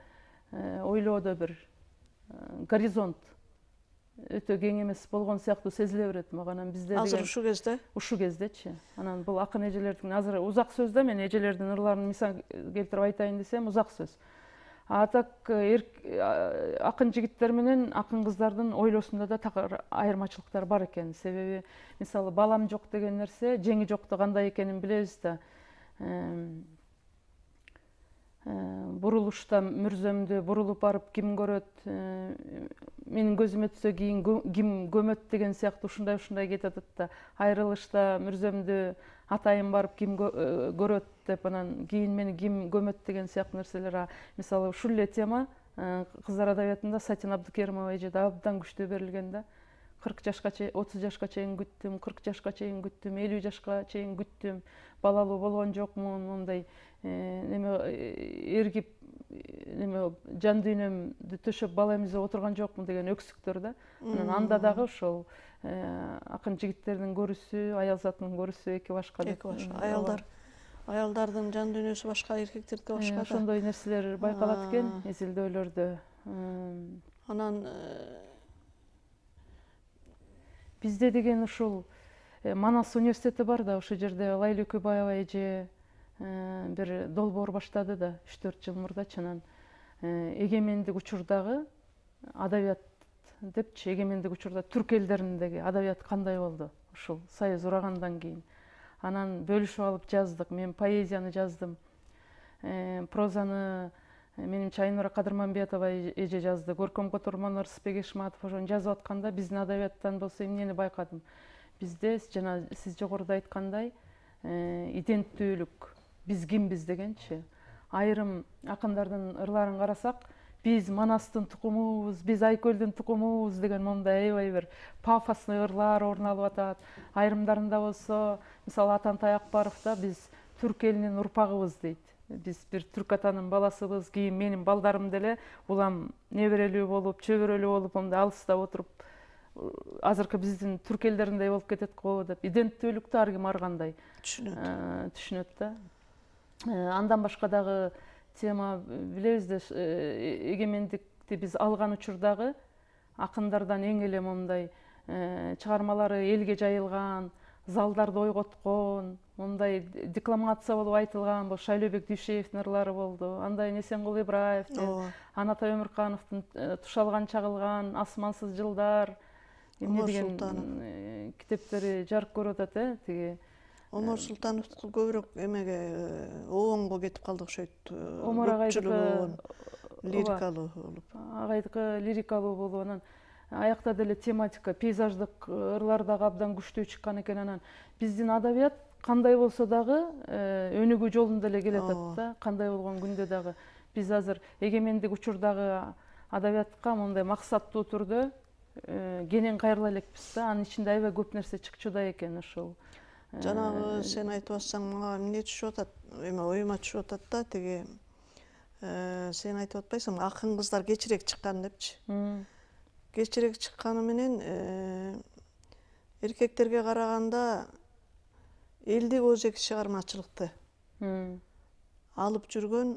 ойлоодо бир горизонт өтө кең эмес болгон сыяктуу сезиле берет мага. Анан бизде азыр ушул кезде ушул кездечи. Анан бул акын эжелердин азыр узак сөз да, мен эжелердин ырларын мисал келтирип айтайын десем узак сөз. А так акын жигиттер менен акын кыздардын ойлоосунда да такыр айырмачылыктар бар экен. Себеби мисалы балам жок деген нерсе, жеңи жокто кандай экенин билебиз да. Бурулушта мүрзөмдү бурулуп барып ким көрөт, менин көзүмө түшсө кийин ким көмөт деген сыяктуу ушундай ушундай кетип атат да. Айрылышта мүрзөмдү атайын барып ким көрөт деп, анан кийин мени ким көмөт деген сыяктуу нерселер. Мисалы ушул эле тема кыздар адабиятында Сатин Абдыкеримова эжеде абдан күчтүү берилген да. кырк жашка чейин, отуз жашка чейин күттүм, кырк жашка чейин күттүм, элүү жашка чейин күттүм, балалуу болгон жокмун, мындай неме эргип неме жан дүйнөмдү төшөп бала эмизип отурган жокмун деген өксүктөр да. Анан анда дагы ошол акын жигиттердин көрүүсү, Аялзаттын көрүүсү эки башка. Эки башка. Аялдар аялдардын жан дүйнөсү башка, эркектердики башка да. Ошондой нерселер байкалат экен изилдөөлөрдө. Анан бизде деген ушул Манас университети бар да, ошол жерде Лайла Өкөбаева эже бир долбоор баштады да үч төрт жыл мурдачы. Анан эгемендик учурдагы адабият депчи, эгемендик учурда түрк элдериндеги адабият кандай болду ушул союз урагандан кийин. Анан бөлүшүп алып жаздык. Мен поэзияны жаздым, прозаны менимче Айнура Кадырмамбетова эже жазды, көркөм котормон Ырысбек Эшматов ошону жазып атканда биздин адабияттан болсо эмнени байкадым. Бизде жана сиз жогоруда айткандай иденттүүлүк, биз кимбиз дегенчи. Айрым акындардын ырларын карасак, биз Манастын тукумубуз, биз Айкөлдүн тукумубуз деген момундай аябай бир пафосный ырлар орун алып атат. Айрымдарында болсо, мисалы Атантай Акбаров да биз түрк элинин урпагыбыз дейт. Биз бир түрк атанын баласыбыз, кийин менин балдарым деле улам неберелүү болуп, чөбөрөлүү болуп, мондай алыста отуруп, азыркы биздин түрк элдериндей болуп кетет го деп, иденттүүлүктү ар ким ар кандай түшүнөт. Түшүнөт да. Андан башка дагы тема билебиз да, эгемендикти биз алган учурдагы акындардан эң эле момундай чыгармалары элге жайылган, залдарды ойготкон, мондай декламация болуп айтылган бул Шайлообек Дүйшеевдин ырлары болду. Андай Эсенгул Ибраевдин, Анатай Өмүркановдун Тушалган чагылган, Асмансыз жылдар, эмне деген китептери жарык көрүп атат, э, тиги Омар Султановдуку көбүрөөк эмеге оонго кетип калды окшойт. Омар агайдыкы лирикалуу болуп. Агайдыкы лирикалуу болуп, анан аякта деле тематика, пейзаждык ырлар дагы абдан күчтүү чыккан экен. Анан биздин адабият кандай болсо дагы өнүгүү жолунда эле келатат да, кандай болгон күндө дагы. Биз азыр эгемендик учурдагы адабиятка мондай максаттуу түрдө кенен кайрыла элекпиз да. Анын ичинде аябай көп нерсе чыкчуда экен ушул. Жанагы сен айтып атсаң, мага эмне түшүп атат, эме оюма түшүп атат да, тиги сен айтып атпайсың, акын кыздар кечирээк чыккан депчи. Кечирээк чыкканы менен эркектерге караганда элдик өзек чыгармачылыкты алып жүргөн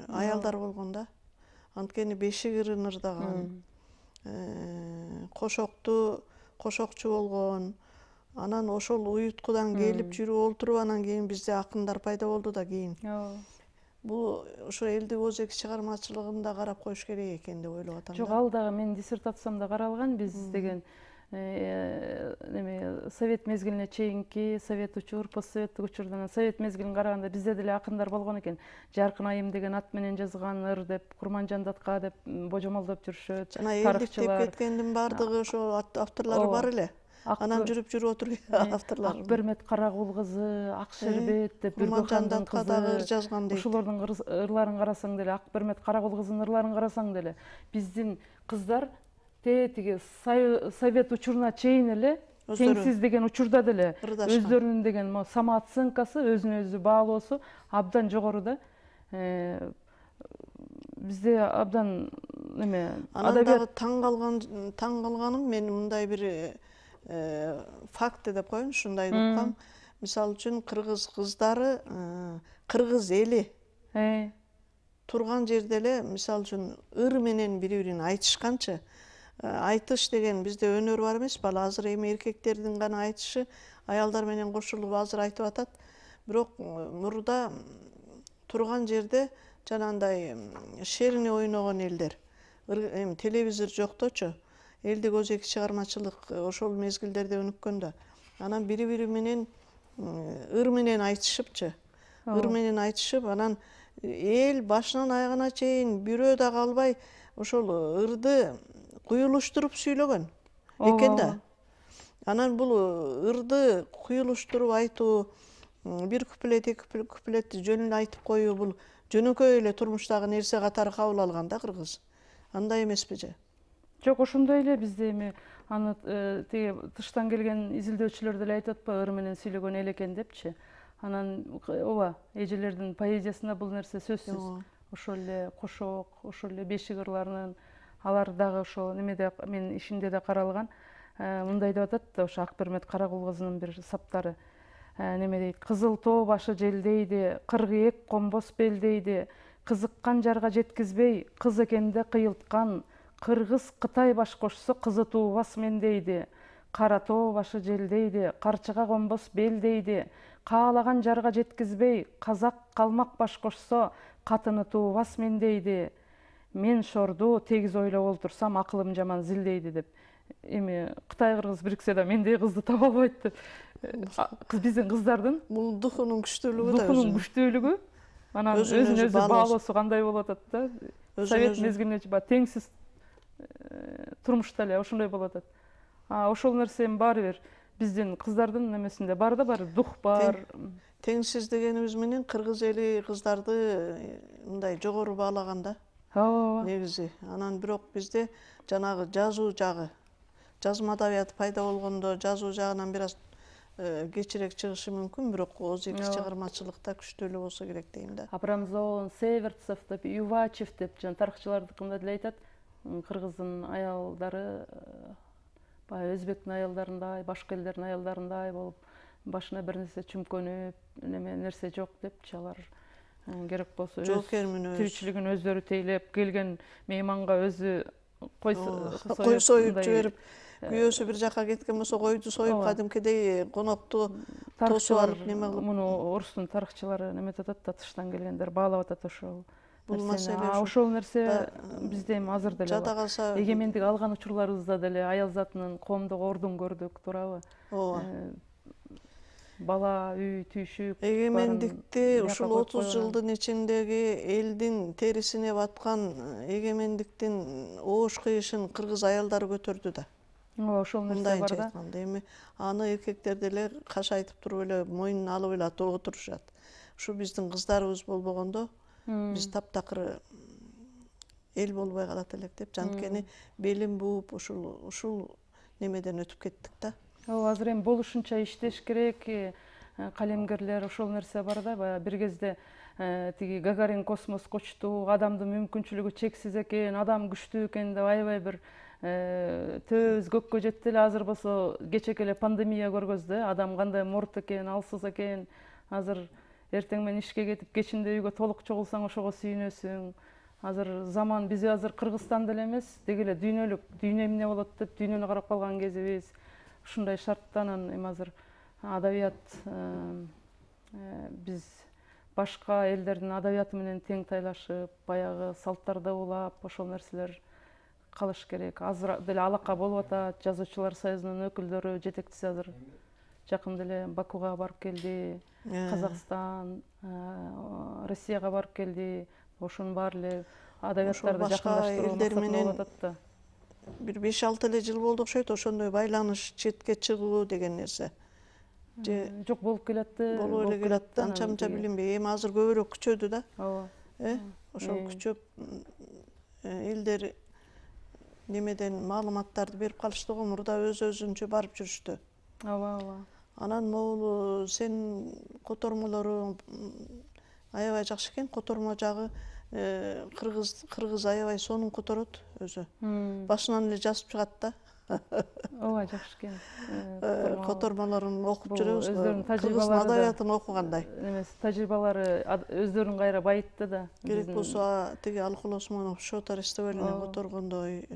аялдар болгон да. Анткени бешик ырын ырдаган, кошокту кошокчу болгон. Анан ошол уюткудан келип жүрүп олтуруп, анан кийин бизде акындар пайда болду да кийин. Бул ошо элдик өзек чыгармачылыгын да карап коюш керек экен деп ойлоп атам. Жок, ал дагы менин диссертациямда каралган. Биз деген эме совет мезгилине чейинки, совет учур, постсоветтик учурдан совет мезгилин караганда бизде деле акындар болгон экен. Жаркын айым деген ат менен жазган ыр деп, Курманжан Датка деп божомолдоп жүрүшөт. Жана элдик деп кеткендин баардыгы ошо авторлору бар эле. Анан жүрүп жүрүп отуруп авторлор. Акбермет Карагул кызы, Акшербет деп Бүргөхандын кызы жазган дейт. Ушулордун ырларын карасаң деле, Акбермет Карагул кызынын ырларын карасаң деле, биздин кыздар тетиги совет учуруна чейин эле, теңсиз деген учурда деле өздөрүнүн деген самооценкасы, өзүнө өзү баалоосу абдан жогору да. Бизде абдан эме анан дагы таң калган таң калганым мен мындай бир факт деп коеюн, ушундайды уккам. Мисалы үчүн кыргыз кыздары, кыргыз эли турган жерде эле, мисалы үчүн ыр менен бири-бирин айтышканчы. Айтыш деген бизде өнөр бар эмеспи? Ал азыр эми эркектердин гана айтышы, аялдар менен кошулуп азыр айтып атат. Бирок мурда турган жерде жанагындай шерини ойногон элдер, эми телевизор жокточу, элдик өзек чыгармачылык ошол мезгилдерде өнүккөн да. Анан бири-бири менен ыр менен айтышыпчы. Ыр менен айтышып, анан эл башынан аягына чейин бирөө да калбай ошол ырды куюлуштуруп сүйлөгөн экен да. Анан бул ырды куюлуштуруп айтуу, бир куплет, эки куплетти жөн эле айтып коюу, бул жөнөкөй эле турмуштагы нерсе катары кабыл алган да кыргыз. Андай эмеспи же? Жок, ошондой эле бизде эми аны тиги тыштан келген изилдөөчүлөр деле айтып атпайбы, ыр менен сүйлөгөн эл экен депчи. Анан ооба, эжелердин поэзиясында бул нерсе сөзсүз. Ошол эле кошок, ошол эле бешик ырларынын, алар дагы ошол немеде менин ишимде да каралган. Мындай деп атат да, ошо Акбермет Карагул кызынын бир саптары. Неме дейт: кызыл тоо башы желдейди, кыргыек комбос белдейди, кызыккан жарга жеткизбей, кыз экенде кыйылткан, кыргыз Кытай баш кошсо кызы туубас мендейди, кара тоо башы желдейди, карчыга комбос белдейди, каалаган жарга жеткизбей, казак калмак баш кошсо катыны туубас мендейди, мен шорду тегиз ойлоп олтурсам акылым жаман зилдейди деп. Эми Кытай кыргыз бириксе да мендей кызды таба албайт деп. Биздин кыздардын бул духунун күчтүүлүгү да духунун күчтүүлүгү, анан өзүн өзүн өзү өзү баалоосу кандай болуп атат да. Совет өзүн мезгилинде баягы теңсиз турмушта эле ошондой болуп атат. А ошол нерсенин баары бир биздин кыздардын немесинде бар да, бар дух бар. теңсиз дегенибиз менен кыргыз эли кыздарды мындай жогору баалаган да Ооба. негизи. Анан бирок бизде жанагы жазуу жагы, жазма адабияты пайда болгондо жазуу жагынан бир аз кечирээк чыгышы мүмкүн, бирок ооз эки чыгармачылыкта күчтүүлүү болсо керек дейм да. Абрамзон, Северцев деп, Ювачев деп жана тарыхчылардыкында деле айтат, кыргыздын аялдары баягы өзбектин аялдарындай, башка элдердин аялдарындай болуп, башына бир нерсе чүмкөнүп, неме нерсе жок депчи, алар керек болсо тиричилигин өздөрү тейлеп, келген мейманга өзү кой союп жиберип, күйөөсү бир жака кеткен болсо койду союп кадимкидей конокту тосуп алып неме кылып. Муну орустун тарыхчылары неметип атат да, тыштан келгендер баалап атат ошол. Бул маселе ошол нерсе бизде эми азыр деле жада калса, эгемендик алган учурларыбызда деле аял затынын коомдук ордун көрдүк, туурабы? ооба. Бала, үй, түйшүк. Эгемендикти ушул отуз жылдын ичиндеги элдин терисине баткан эгемендиктин оош кыйышын кыргыз аялдары көтөрдү да. Ооба, ошол нерсе бар да. Эми аны эркектер деле кашайтып туруп эле мойнуна алып эле отурушат. Ушу биздин кыздарыбыз болбогондо биз таптакыр эл болбой калат элек деп, жанткени белин бууп ушул ушул немеден өтүп кеттик да. Ооба, азыр эми болушунча иштеш керек, калемгерлер ошол нерсе бар да. Баягы бир кезде тиги Гагарин космоско учту, адамдын мүмкүнчүлүгү чексиз экен, адам күчтүү экен деп аябай бир төбөбүз көккө жетти эле. Азыр болсо кечеке эле пандемия көргөздү, адам кандай морт экен, алсыз экен. Азыр эртең менен ишке кетип, кечинде үйгө толук чогулсаң ошого сүйүнөсүң. Азыр заман, биз азыр Кыргызстанда эле эмес, деги эле дүйнөлүк, дүйнө эмне болот деп дүйнөнү карап калган кезибиз. Ушундай шартта анан эми азыр адабият биз башка элдердин адабияты менен тең тайлашып, баягы салттарды улап, ошол нерселер калыш керек. Азыр деле алака болуп атат. Жазуучулар союзунун өкүлдөрү, жетекчиси азыр жакында эле Бакуга барып келди. Казакстан, Россияга барып келди. Ошонун баары эле адабияттарды жакындаштыруу максатында болуп атат да. Бир беш алты эле жыл болду окшойт, ошондой байланыш, четке чыгуу деген нерсе. Жок, болуп келатты. Болуп эле келат, анча мынча билинбей. Эми азыр көбүрөөк күчөдү да. Ооба. Э, ошол күчөп элдер немеден маалыматтарды берип калышты го, мурда өз өзүнчө барып жүрүштү. Ооба, ооба. Анан могул сен котормолоруң аябай жакшы экен. Котормо жагы кыргыз кыргыз аябай сонун которот өзү. Башынан эле жазып чыгат да. Ооба, жакшы экен. Котормолорун окуп жүрөбүз. Өздөрүнүн Кыргыз тажрыйбалары адабиятын окугандай. Эмес, тажрыйбалары өздөрүн кайра байытты да. Керек болсо тиги Алкул Осмонов Шот Арестовалине которгондой.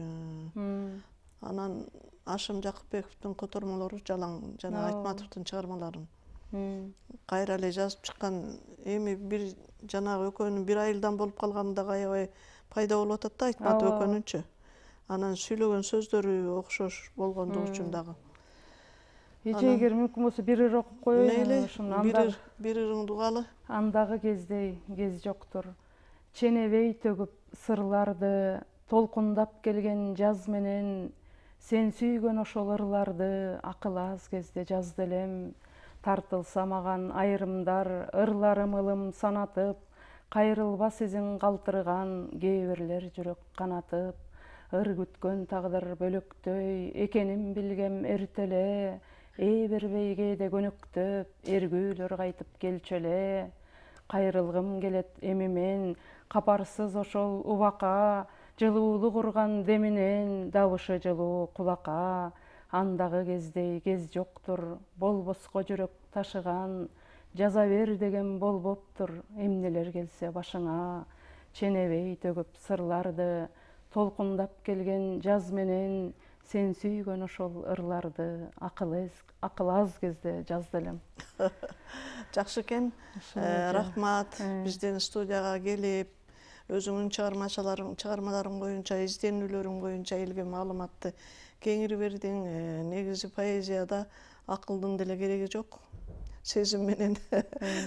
Анан Ашым Жакыпбековдун котормолору жалаң, жана Айтматовдун чыгармаларын кайра эле жазып чыккан. Эми бир жанагы экөөнүн бир айылдан болуп калганы дагы аябай пайда болуп атат да, Айтматов экөөнүнчү. Анан сүйлөгөн сөздөрү окшош болгондугу үчүн дагы. Эже эгер мүмкүн болсо бир ыр окуп коеюн. Мейли, бир ырыңды угалы. Андагы кездей кез жоктур. Ченебей төгүп сырларды, толкундап келген жаз менен, сен сүйгөн ошол ырларды акыл аз кезде жазды элем. Тартылса маган айрымдар, ырларым ылым санатып, кайрылбас изин калтырган кээ бирлер жүрөк канатып. Ыр күткөн тагдыр бөлөктөй, экенин билгем эртеле, ээ бербей кээде көнөктөп, эргүүлөр кайтып келчү эле. Кайрылгым келет эми мен, капарсыз ошол убакка, жылуулук урган деминен, добушы жылуу кулакка. Андагы кездей кез жоктур, болбоско жүрөк ташыган, жаза бер деген болбоптур, эмнелер келсе башыңа. Ченебей төгүп сырларды, толкундап келген жаз менен, сен сүйгөн ошол ырларды, акыл аз кезде жазды элем. Жакшы экен. Рахмат, биздин студияга келип, өзүңүн чыгармачыларың чыгармаларың боюнча, изденүүлөрүң боюнча элге маалыматты кеңири бердиң. Негизи поэзияда акылдын деле кереги жок. Сезим менен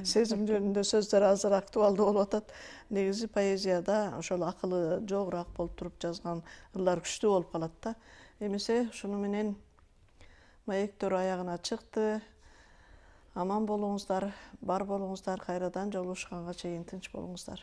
сезим жөнүндө сөздөр азыр актуалдуу болуп атат. Негизи поэзияда ошол акылы жогураак болуп туруп жазган ырлар күчтүү болуп калат да. Эмесе ушуну менен маектөр аягына чыкты. Аман болуңуздар, бар болуңуздар, кайрадан жолугушканга чейин тынч болуңуздар.